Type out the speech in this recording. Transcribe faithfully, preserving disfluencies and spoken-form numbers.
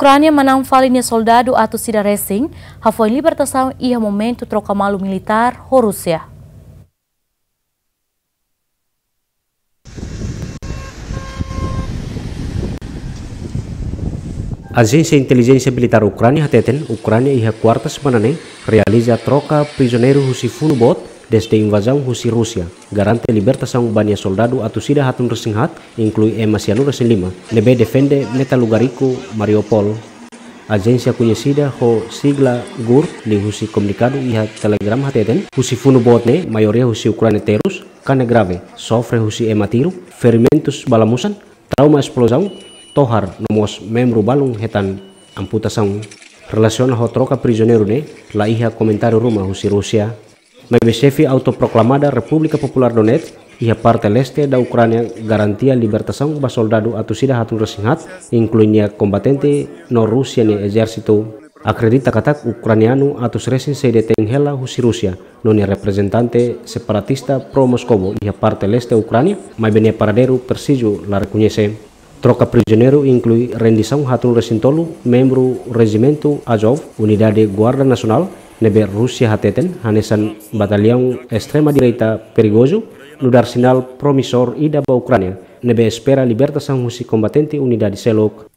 Ukránia manán fali nia soldadu atus ida resin hafoin libertasaun iha momentu troka malu militár ho Rúsia. Ajénsia Intelijénsia Militár Ukránia hateten, Ukránia iha kuarta semana ne'e realiza troka prizioneiru husi funu boot dezde invazaun husi Rúsia, garante libertasaun ba nia soldadu atus ida haatnulu resin haat, inklui ema sianulu resin lima, ne'ebé defende metalúrjiku Mariupol. Ajénsia koñesida ho sigla GUR liuhusi komunikadu iha Telegram hateten, husi funu boot ne'e, maioria husi Ukránia terus, kane grave, sofre husi ema tiru, ferimentus bala-musan, trauma esplozaun, tohar, no mós membru balun hetan amputasaun. Relasiona ho troka prizioneiru ne'e, la iha komentáriu ruma husi Rúsia. Maibé xefe autoproklamada Repúblika Populár Donetsk, iha parte leste da Ukránia, garantia libertasaun ba soldadu atus ida haatnulu resin haat, inklui nia kombatente no Rúsia nia ezérsitu. Akredita katak ukranianu atus resin sei detein hela husi Rúsia, no nia reprezentante separatista pro-Moskovu iha parte leste Ukránia, maibé nia paradeiru presizu la rekoñese. Troka prizioneiru inklui rendisaun haatnulu resin tolu membru rejimentu Azov, unidade Guarda Nasionál, ne'ebé Rúsia hateten hanesan bataliaun estrema-direita perigozu, nu'udar sinál promisór ida ba Ukránia, ne'ebé espera libertasaun husi kombatente unidade seluk.